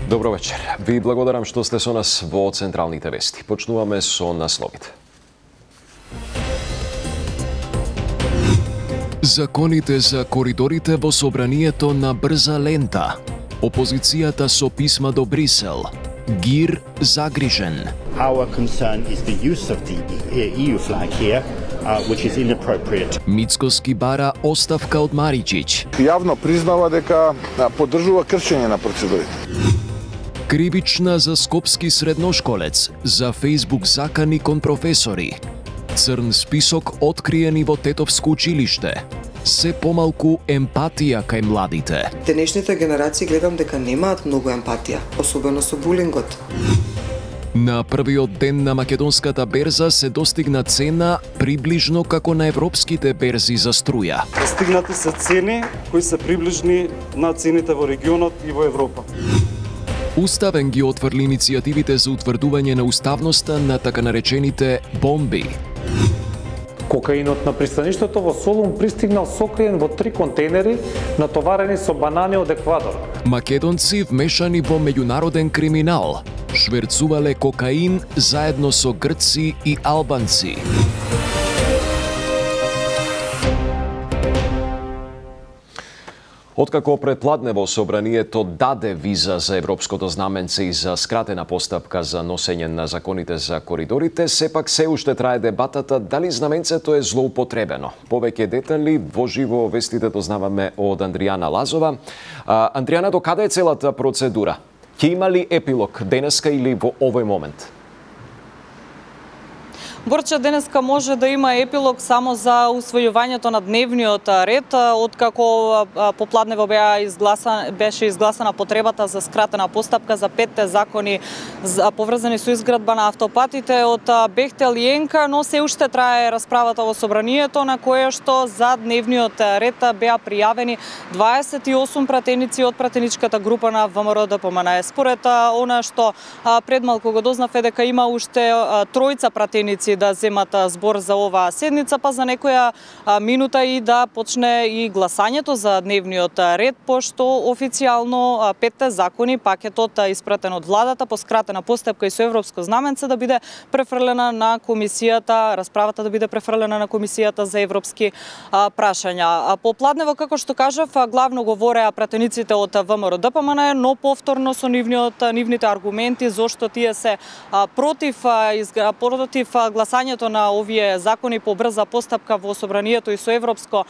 Добро вечер. Ви благодарам што сте со нас во Централните вести. Почнуваме со насловите. Законите за коридорите во собранието на брза лента. Опозицијата со писма до Брисел. ГИР загрижен. Our concern is the use of the EU flag here, which is inappropriate. Мицкоски бара оставка од Мариќиќ. Јавно признава дека поддржува кршење на процедурите. Кривична за скопски средношколец, за Facebook закани кон професори. Црн список откриени во Тетовско училиште. Се помалку емпатија кај младите. Денешните генерации гледам дека немаат многу емпатија, особено со булингот. На првиот ден на македонската берза се достигна цена приближно како на европските берзи за струја. Достигнати се цени кои се приближни на цените во регионот и во Европа. Уставен ги отврли иницијативите за утврдување на уставноста на така наречените бомби. Кокаинот на пристаништето во Солун пристигнал сокриен во 3 контейнери натоварени со банани од Еквадор. Македонци вмешани во меѓународен криминал. Шверцувале кокаин заедно со грци и албанци. Откако предпладне во собранието даде виза за европското знаменце и за скратена постапка за носење на законите за коридорите, сепак се уште трае дебатата дали знаменцето е злоупотребено. Повеќе детали во живо вестите дознаваме од Андријана Лазова. Андријана, до каде е целата процедура? Ќе има ли епилог денеска или во овој момент? Борче, денеска може да има епилог само за усвојувањето на дневниот ред, откако попладнево беше изгласана потребата за скратена постапка за 5 закони поврзани со изградба на автопатите од Бехтел и Енка, но се уште трае расправата во собранието на кое што за дневниот ред беа пријавени 28 пратеници од пратеничката група на ВМРО ДПМН. Според она што предмалку го дознав е дека има уште тројца пратеници да земат збор за оваа седница, па за некоја минута и да почне и гласањето за дневниот ред, пошто официјално 5 закони, пакетот испратен од владата по скратена постапка и со европско знаменце да биде префрлена на комисијата, расправата да биде префрлена на комисијата за европски прашања. Попладнево, како што кажав, главно говореа пратениците од ВМРО ДПМН, но повторно со нивните аргументи зошто тие се против гласањето на овие закони по брза постапка во собранието и со европско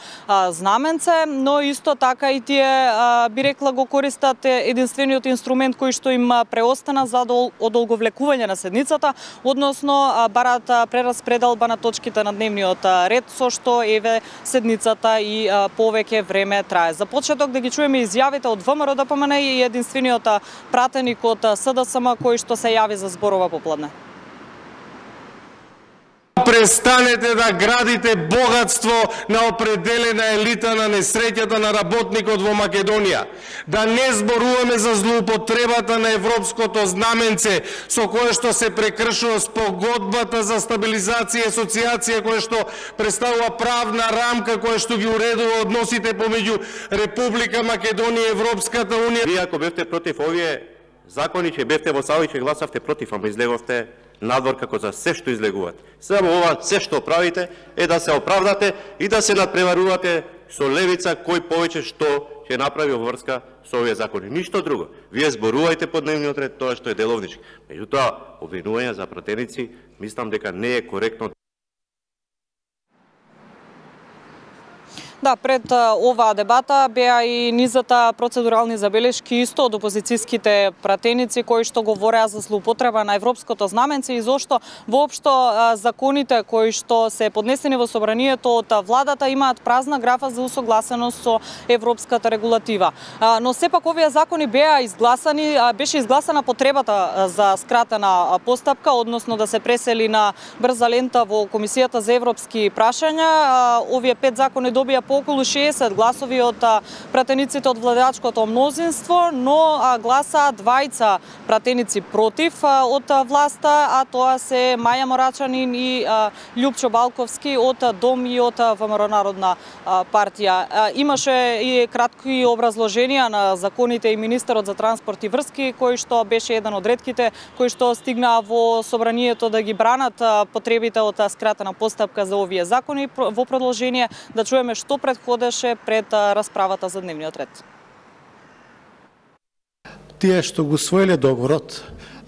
знаменце, но исто така и тие би рекла го користат единствениот инструмент кој што им преостана за одолговлекување на седницата, односно бараат прераспределба на точките на дневниот ред, со што еве седницата и повеќе време трае. За почеток да ги чуеме изјавите од ВМРО ДПМН и единствениот пратеник од СДСМ кој што се јави за зборова попладне. Престанете да градите богатство на определена елита на несреќата на работникот во Македонија. Да не зборуваме за злоупотребата на европското знаменце со кое што се прекршува спогодбата за стабилизација и асоциација која што представува правна рамка која што ги уредува односите помеѓу Република Македонија и Европската унија. Вие ако бевте против овие закони, ќе бевте во сала и ќе гласавте против, ама излеговте надвор како за се што излегувате. Само ова се што правите е да се оправдате и да се надпреварувате со левица кој повеќе што ќе направи во врска со овие закони. Ништо друго. Вие зборувајте по дневниот ред тоа што е деловнички. Меѓутоа, обвинување за пратеници, мислам дека не е коректно. Да, пред оваа дебата беа и низата процедурални забелешки исто од опозицијските пратеници кои што говореа за злоупотреба на европското знаменце и зошто воопшто законите кои што се поднесени во собранието од владата имаат празна графа за усогласеност со европската регулатива. Но сепак овие закони беа изгласани, беше изгласана потребата за скратена постапка, односно да се пресели на брза лента во Комисијата за европски прашања. Овие 5 закони добија добија по околу 60 гласови од пратениците од владеачкото мнозинство, но гласа двајца пратеници против од власта, а тоа се Маја Морачанин и Љупчо Балковски од Дом и од ВМРО Народна партија. Имаше и кратки образложенија на законите и министерот за транспорт и врски, кој што беше еден од ретките кои што стигнаа во собранието да ги бранат потребите од скратена постапка за овие закони. Во продолжение да чуеме што претходеше пред расправата за дневниот ред. Тие што го усвоиле договорот,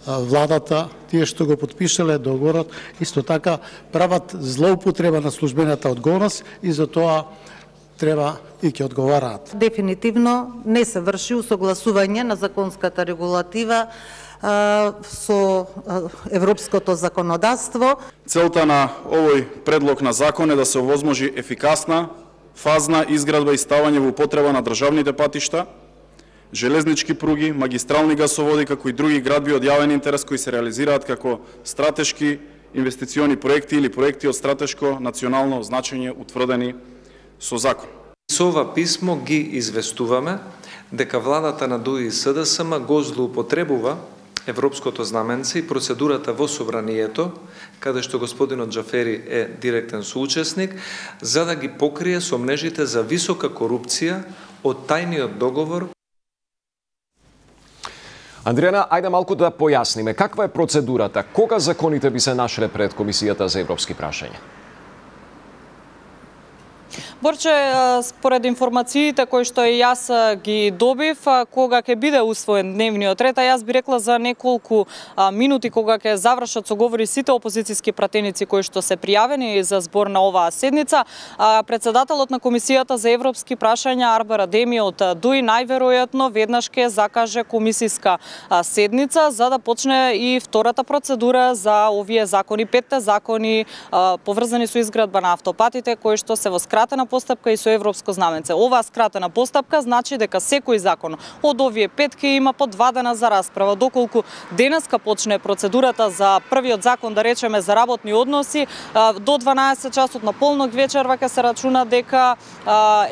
владата, тие што го потпишале договорот, исто така прават злоупотреба на службената одговорност и за тоа треба и ќе одговараат. Дефинитивно не се врши усогласување на законската регулатива со европското законодавство. Целта на овој предлог на закон е да се овозможи ефикасна, фазна изградба и ставање во употреба на државните патишта, железнички пруги, магистрални гасоводи, како и други градби од јавен интерес кои се реализираат како стратешки инвестициони проекти или проекти од стратешко национално значење утврдени со закон. Со ова писмо ги известуваме дека владата на ДУИ и СДСМ го злоупотребува европското знаменце и процедурата во собранието, каде што господинот Џафери е директен соучесник, за да ги покрие со мрежите за висока корупција од тајниот договор. Андријана, ајде малку да појасниме каква е процедурата, кога законите би се нашле пред Комисијата за европски прашања? Борче, според информациите кои што и јас ги добив, кога ќе биде усвоен дневниот ред, а јас би рекла за неколку минути кога ќе завршат соговори сите опозицијски пратеници кои што се пријавени за збор на оваа седница, председателот на Комисијата за европски прашања Арбер Адеми од ДУИ најверојатно веднаш ќе закаже комисиска седница за да почне и втората процедура за овие закони, 5 закони поврзани со изградба на автопатите кои што се во скратена постапка и со европско знаменце. Оваа скратена постапка значи дека секој закон од овие 5 ќе има по 2 дена за расправа, доколку денеска почне процедурата за првиот закон, да речеме за работни односи, до 12 часот на полнок вечерва ќе се рачуна дека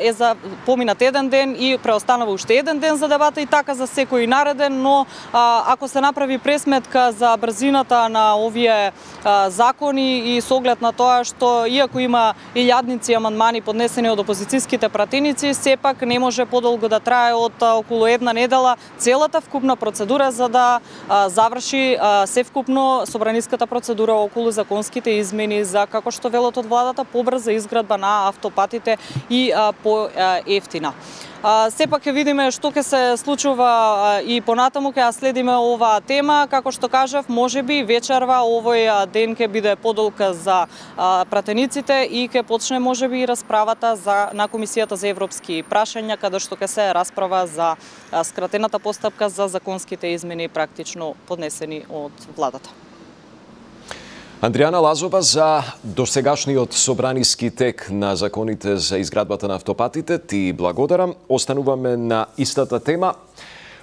е за поминат еден ден и преостанува уште еден ден за дебата и така за секој нареден, но ако се направи пресметка за брзината на овие закони и со оглед на тоа што иако има илјадници амандмани поднесени од опозицијските пратеници, сепак не може подолго да трае од околу една недела целата вкупна процедура за да заврши севкупно собраниската процедура околу законските измени за, како што велат од владата, побрза изградба на автопатите и по-ефтина. Сепак ќе видиме што ќе се случува и понатаму, ќе следиме оваа тема. Како што кажав, можеби вечерва овој ден ќе биде подолг за пратениците и ќе почне можеби и расправата на Комисијата за европски прашања, каде што ќе се расправа за скратената постапка за законските измени практично поднесени од владата. Андријана Лазова, за досегашниот собраниски тек на законите за изградбата на автопатите, ти благодарам. Остануваме на истата тема.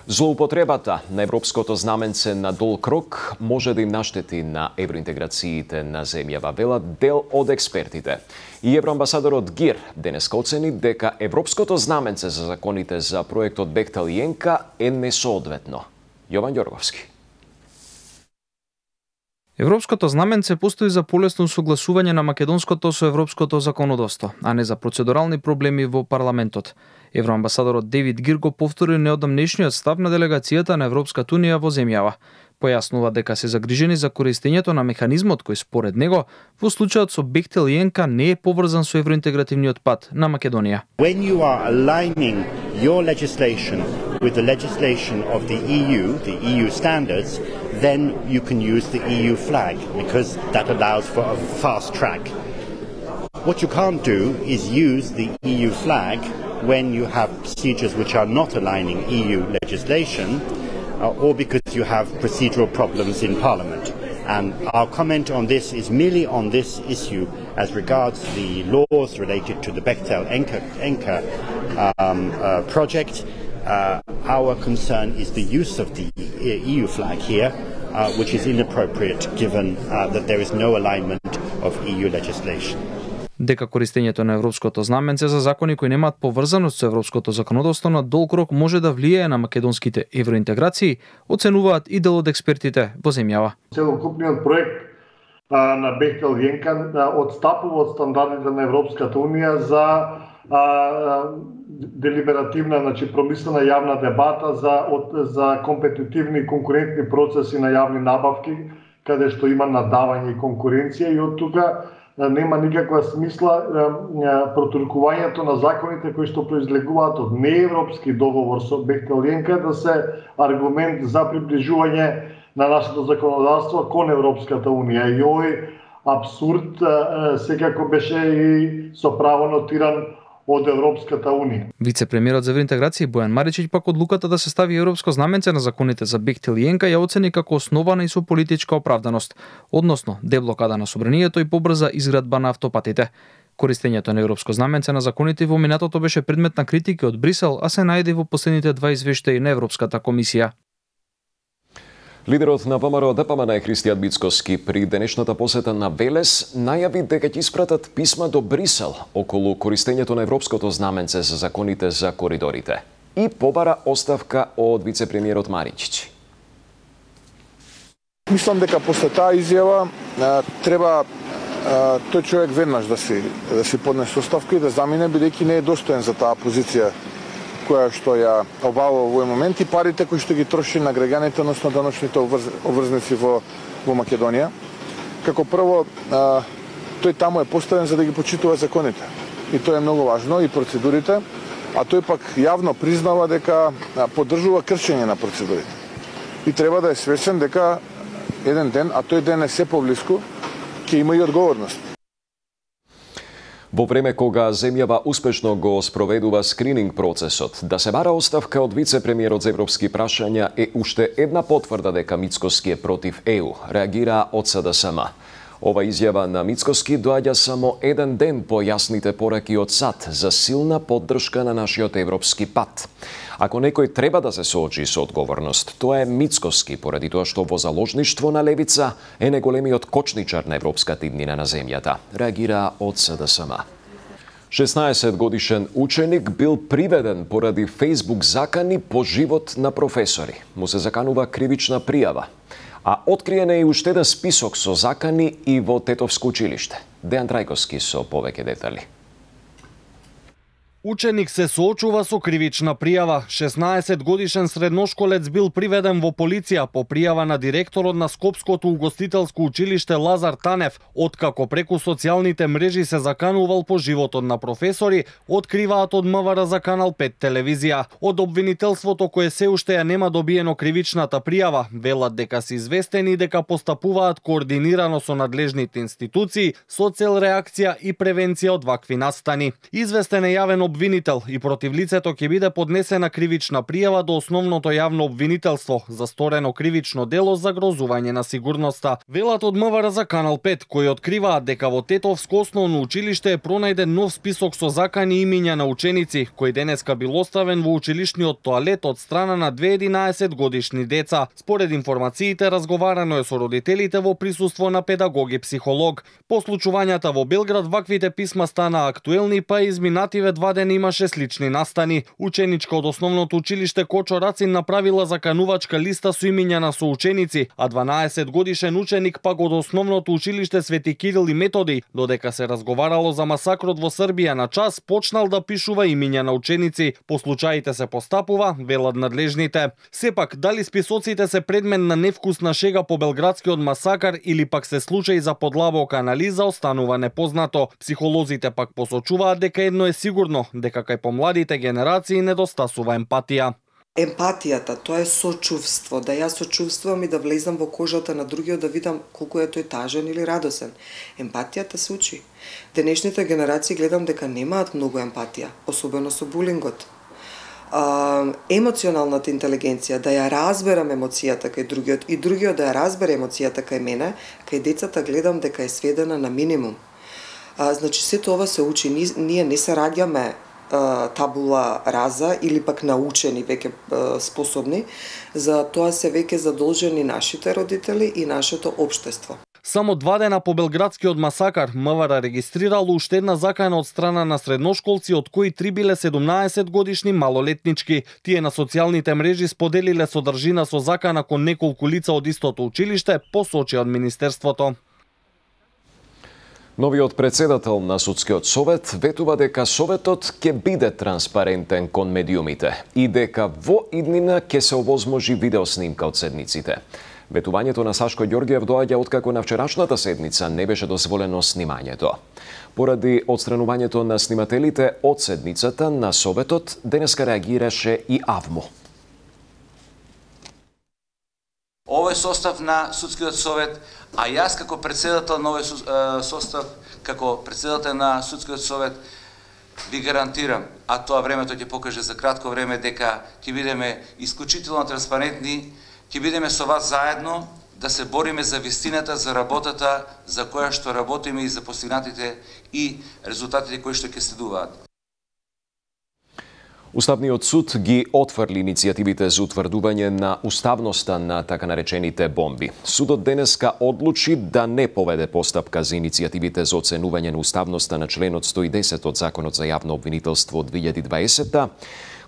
Злоупотребата на европското знаменце на долг рок може да им наштети на евроинтеграциите на земјава, велат дел од експертите. И евроамбасадорот Гир денеска оцени дека европското знаменце за законите за проектот Бехтел и Енка е несоодветно. Јован Ѓорговски. Европското знаменце постои за полесно согласување на македонското со европското законодавство, а не за процедурални проблеми во парламентот. Евроамбасадорот Девид Гир го повтори неодамнешниот став на делегацијата на Европската унија во земјава. Појаснува дека се загрижени за користењето на механизмот кој според него во случајот со Бехтел и Енка не е поврзан со евроинтегративниот пат на Македонија. When you are aligning your legislation with the legislation of the EU standards, then you can use the EU flag because that allows for a fast track. What you can't do is use the EU flag when you have procedures which are not aligning EU legislation or because you have procedural problems in Parliament. And our comment on this is merely on this issue as regards the laws related to the Bechtel-Enka project. Our concern is the use of the EU flag here, which is inappropriate given that there is no alignment of EU legislation. дека користењето на европското знаменце за закони кои немаат поврзаност со европското законодавство на долг рок може да влијае на македонските евроинтеграции, оценуваат и дел од експертите во земјава. Целокупниот проект на Бехтел Јенка одстапува од стандардите на Европската унија за делиберативна, промислена јавна дебата за компетитивни и конкурентни процеси на јавни набавки, каде што има надавање и конкуренција, и од тука нема никаква смисла протуркувањето на законите кои што произлегуваат од неевропски договор со Бехтел Јенка да се аргумент за приближување на нашето законодавство кон Европската унија. И овој абсурд секако беше и со право нотиран од Европската унија. Вице-премиерот за евроинтеграција Бојан Маричиќ пак одлуката да се стави европско знаменце на законите за Бехтел Јенка ја оцени како основана и со политичка оправданост, односно деблокада на собранието и побрза изградба на автопатите. Користењето на европско знаменце на законите во минатото беше предмет на критики од Брисел, а се најде во последните 2 извештаи на Европската комисија. Лидерот на ВМРО ДПМН Христијан Мицкоски при денешната посета на Велес најави дека ќе испратат писма до Брисел околу користењето на европското знаменце за законите за коридорите и побара оставка од вице-премиерот Маричиќ. Мислам дека после таа изјава треба тој човек веднаш да си поднесе оставка и да замине, бидејќи не е достоен за таа позиција која што ја обавува во овој момент, и парите кои што ги троши на граѓаните, односно даночните обврзници во Македонија. Како прво, тој таму е поставен за да ги почитува законите. И тоа е многу важно, и процедурите, а тој пак јавно признава дека поддржува кршење на процедурите. И треба да е свесен дека еден ден, а тој ден е се поблиску, ќе има и одговорност. Во време кога земјава успешно го спроведува скрининг процесот, да се бара оставка од вице-премиерот за европски прашања е уште една потврда дека Мицкоски е против ЕУ, реагира од СДСМ. Ова изјава на Мицкоски доаѓа само еден ден по јасните пораки од САД за силна поддршка на нашиот европски пат. Ако некој треба да се соочи со одговорност, тоа е Мицкоски, поради тоа што во заложништво на левица е најголемиот кочничар на европската иднина на земјата, реагира од СДСМ. 16-годишен ученик бил приведен поради Facebook закани по живот на професори. Му се заканува кривична пријава. А откриен е и уште еден список со закани и во Тетовско училиште. Дејан Трајковски со повеќе детали. Ученик се соочува со кривична пријава. 16-годишен средношколец бил приведен во полиција по пријава на директорот на Скопското угостителско училиште Лазар Танев, откако преку социјалните мрежи се заканувал по животот на професори, откриваат од МВР за Канал 5 телевизија. Од обвинителството кое се уште ја нема добиено кривичната пријава, велат дека се известени дека постапуваат координирано со надлежните институции со цел реакција и превенција од вакви настани. Известен е јавен обвинител и против лицето ќе биде поднесена кривична пријава до основното јавно обвинителство за сторено кривично дело за загрозување на сигурноста. Велат од МВР за Канал 5, кои откриваат дека во Тетовско основно училиште е пронајден нов список со закани имиња на ученици, кој денеска бил оставен во училишниот тоалет од страна на 11 годишни деца. Според информациите, разговарано е со родителите во присуство на педагог и психолог. По случувањата во Белград, ваквите писма стана актуелни, па изминативе 2 ден имаше слични настани. Ученичка од основното училиште Кочо Рацин направила заканувачка листа со имиња на соученици, а 12 годишен ученик пак од основното училиште Свети Кирил и Методи, додека се разговарало за масакрот во Србија на час, почнал да пишува имиња на ученици. По случаите се постапува, велат надлежните. Сепак, дали списоците се предмет на невкусна шега по белградскиот масакар или пак се случај за подлабока анализа, останува непознато. Психолозите пак посочуваат дека едно е сигурно, дека кај помладите генерации недостасува емпатија. Емпатијата, тоа е сочувство, да јас сочувствувам и да влезам во кожата на другиот, да видам колку е тој тажен или радосен. Емпатијата се учи. Денешните генерации гледам дека немаат многу емпатија, особено со булингот. Емоционалната интелигенција, да ја разберам емоцијата кај другиот и другиот да ја разбере емоцијата кај мене, кај децата гледам дека е сведена на минимум. Значи, сето ова се учи. Ние не се раѓаме табула раза или пак научени, веќе способни, за тоа се веќе задолжени нашите родители и нашето општество. Само 2 дена по белградскиот масакар, МВР регистрирало уште една закана од страна на средношколци, од кои 3 биле 17 годишни малолетнички. Тие на социјалните мрежи споделиле содржина со закана кон неколку лица од истото училиште, посочи од Министерството. Новиот председател на Судскиот совет ветува дека советот ќе биде транспарентен кон медиумите и дека во иднина ќе се овозможи видеоснимка од седниците. Ветувањето на Сашко Ѓоргиев доаѓа откако на вчерашната седница не беше дозволено снимањето. Поради отстранувањето на снимателите од седницата на советот, денеска реагираше и АВМО. Овој состав на Судскиот совет, а јас како председател на овој состав, како председател на Судскиот совет, ви гарантирам, а тоа времето ќе покаже за кратко време, дека ќе бидеме исклучително транспарентни, ќе бидеме со вас заедно да се бориме за вистината, за работата за која што работиме и за постигнатите и резултатите кои што ќе следуваат. Уставниот суд ги отфрли иницијативите за утврдување на уставноста на така наречените бомби. Судот денеска одлучи да не поведе постапка за иницијативите за оценување на уставноста на членот 110 од Законот за јавно обвинителство од 2020,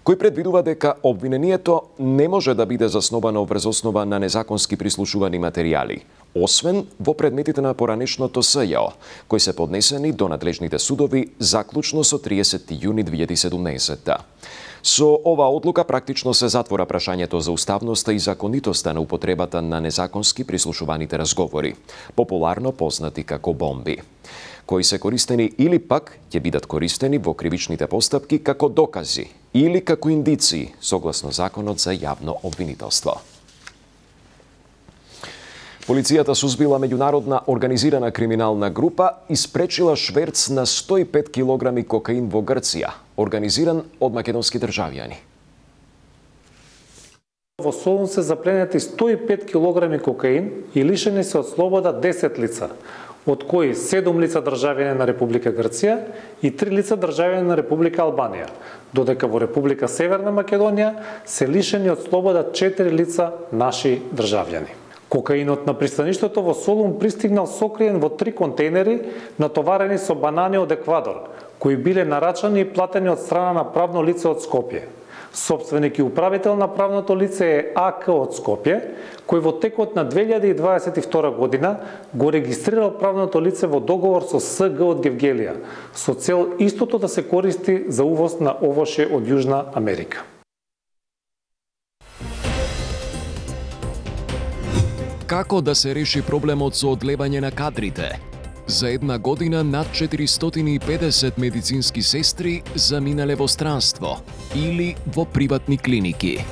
кој предвидува дека обвинението не може да биде засновано врз основа на незаконски прислушувани материјали, освен во предметите на поранешното СЈО, кои се поднесени до надлежните судови заклучно со 30 јуни 2017. Со оваа одлука практично се затвора прашањето за уставноста и законитоста на употребата на незаконски прислушуваните разговори, популарно познати како бомби, кои се користени или пак ќе бидат користени во кривичните постапки како докази или како индиции, согласно Законот за јавно обвинителство. Полицијата сузбила меѓународна организирана криминална група и спречила шверц на 105 килограми кокаин во Грција, организиран од македонски државјани. Во Солун се запленети 105 килограми кокаин и лишени се од слобода 10 лица, од кои 7 лица државјани на Република Грција и 3 лица државјани на Република Албанија, додека во Република Северна Македонија се лишени од слобода 4 лица наши државјани. Кокаинот на пристаништето во Солун пристигнал сокриен во 3 контейнери натоварени со банани од Еквадор, кои биле нарачани и платени од страна на правно лице од Скопје. Собственик и управител на правното лице е АК од Скопје, кој во текот на 2022 година го регистрирал правното лице во договор со СГ од Гевгелија, со цел истото да се користи за увоз на овоше од Јужна Америка. Како да се реши проблемот со одлевање на кадрите? За една година над 450 медицински сестри заминале во странство или во приватни клиники.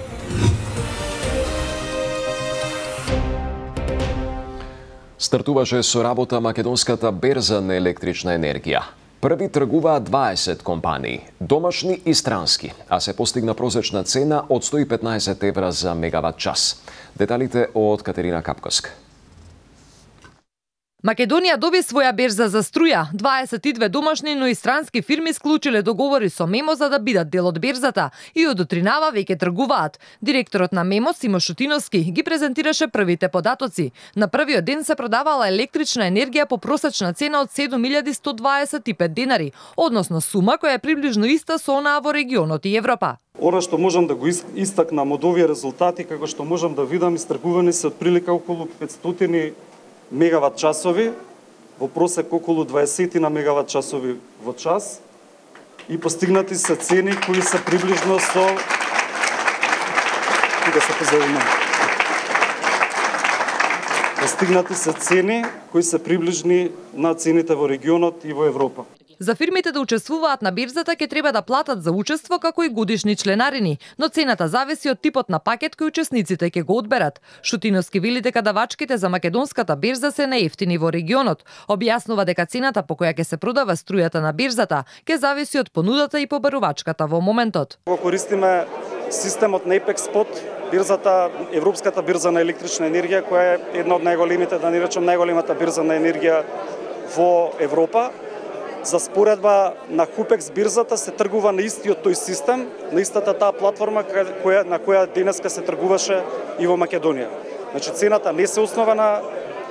Стартуваше со работа македонската берза на електрична енергија. Први тргуваат 20 компании, домашни и странски, а се постигна просечна цена од 115 евра за мегават час. Деталите од Катерина Капковска. Македонија доби своја берза за струја. 22 домашни, но и странски фирми склучиле договори со Мемо за да бидат дел од берзата и од утринава веќе тргуваат. Директорот на Мемо, Симо Шутиновски, ги презентираше првите податоци. На првиот ден се продавала електрична енергија по просечна цена од 7125 денари, односно сума која е приближно иста со онаа во регионот и Европа. Ора што можам да го истакнам од овие резултати, како што можам да видам, истргувани се отприлика околу 500 мегават часови, во просек околу 20 на мегават часови во час и постигнати се цени кои се приближно со постигнати се цени кои се приближни на цените во регионот и во Европа. За фирмите да учествуваат на бирзата ќе треба да платат за учество како и годишни членарини, но цената зависи од типот на пакет кој учесниците ќе го одберат. Шутиновски вели дека давачките за македонската бирза се најевтини во регионот. Објаснува дека цената по која ќе се продава струјата на бирзата ќе зависи од понудата и побарувачката во моментот. Го користиме системот на Apex Spot, бирзата, европската бирза на електрична енергија, која е една од најголемите, да не речем најголемата бирза на енергија во Европа. За споредба на Хупекс бирзата се тргува на истиот тој систем, на истата таа платформа на која денеска се тргуваше и во Македонија. Значи цената не се основа на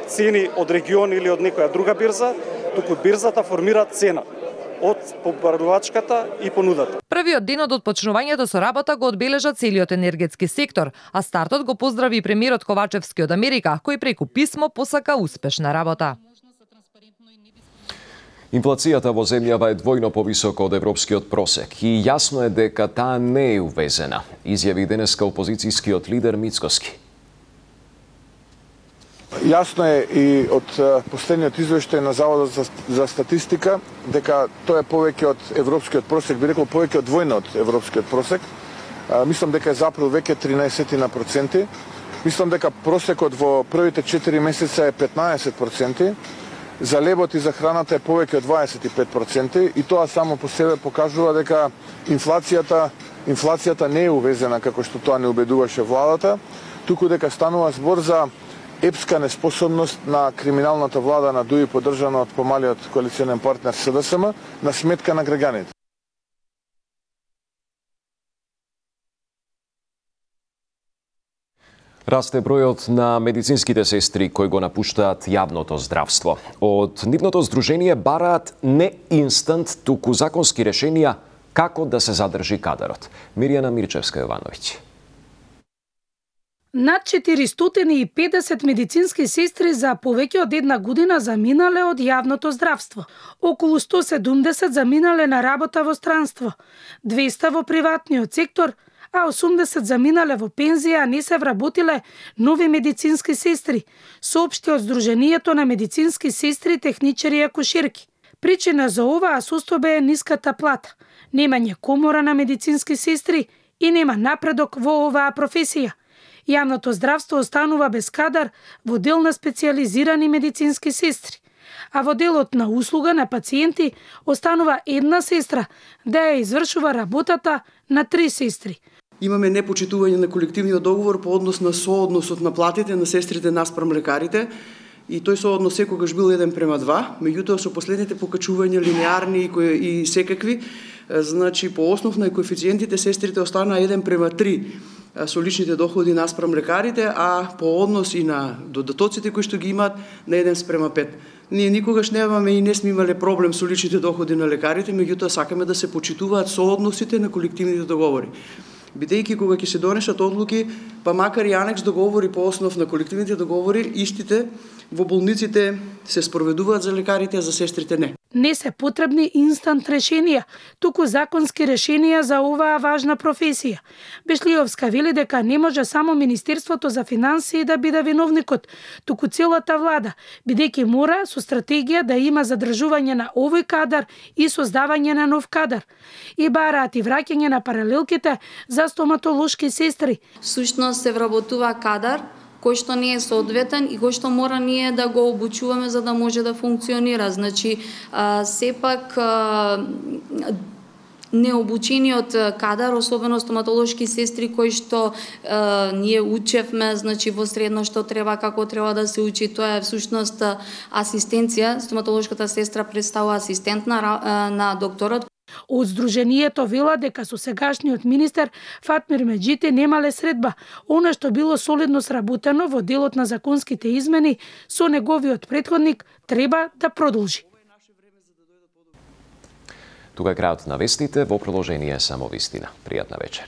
цени од регион или од некоја друга бирза, туку бирзата формира цена од побарувачката и понудата. Првиот ден од отпочнувањето со работа го одбележа целиот енергетски сектор, а стартот го поздрави и премиерот Ковачевски од Америка, кој преку писмо посака успешна работа. Инфлацијата во земјава е двојно повисока од европскиот просек и јасно е дека таа не е увезена, изјави денеска опозицијскиот лидер Мицкоски. Јасно е и од последниот извештај на Заводот за статистика дека тоа е повеќе од европскиот просек, би рекол повеќе од двојно од европскиот просек. Мислам дека е за април веќе 13%. Мислам дека просекот во првите 4 месеца е 15%. За лебот и за храната е повеќе од 25% и тоа само по себе покажува дека инфлацијата не е увезена како што тоа не убедуваше владата, туку дека станува збор за епска неспособност на криминалната влада на ДУИ поддржана од помалиот коалиционен партнер СДСМ на сметка на граѓаните. Расте бројот на медицинските сестри кои го напуштаат јавното здравство. Од нивното здружение бараат не инстант, туку законски решенија како да се задржи кадарот. Мирјана Мирчевска-Јовановиќ. Над 450 медицински сестри за повеќе од една година заминале од јавното здравство. Околу 170 заминале на работа во странство, 200 во приватниот сектор, а 80 заминале во пензија, а не се вработиле нови медицински сестри, соопшти од Сдруженијето на медицински сестри, техничари и акушерки. Причина за оваа состојба е ниската плата, немање комора на медицински сестри и нема напредок во оваа професија. Јавното здравство останува без кадар во дел на специјализирани медицински сестри, а во делот на услуга на пациенти останува една сестра да ја извршува работата на 3 сестри. Имаме непочитување на колективниот договор по однос на соодносот на платите на сестрите наспрам лекарите и тој сооднос секогаш бил 1:2, меѓутоа со последните покачувања линеарни и секакви, значи по основ на коефициентите сестрите останаа 1:3 со личните доходи наспрам лекарите, а по однос и на додатоците кои што ги имаат на 1:5. Ние никогаш немаме и не сме имале проблем со личните доходи на лекарите, меѓутоа сакаме да се почитуваат соодносите на колективните договори. Бидејќи кога ќе се донесат одлуки, па макар и анекс договори по основ на колективните договори, истите во болниците се спроведуваат за лекарите, а за сестрите не. Не се потребни инстант решенија, туку законски решенија за оваа важна професија. Бешлиовска вели дека не може само Министерството за финансии да биде виновникот, туку целата влада, бидејќи мора со стратегија да има задржување на овој кадар и создавање на нов кадар. И бараат и враќање на паралелките за стоматолошки сестри. Сушност се вработува кадар кој што не е соодветен и кој што мора ние да го обучуваме за да може да функционира. Значи, сепак необучениот кадар, особено стоматолошки сестри кои што ние учевме, значи во средно што треба, како треба да се учи, тоа е всушност асистенција. Стоматолошката сестра представува асистент на докторот. Од Сдруженијето вела дека со сегашниот министер Фатмир Меджити немале средба. Она што било солидно сработено во делот на законските измени со неговиот претходник треба да продолжи. Тука е крајот на вестите, во продолжение само вистина. Пријатна вечер.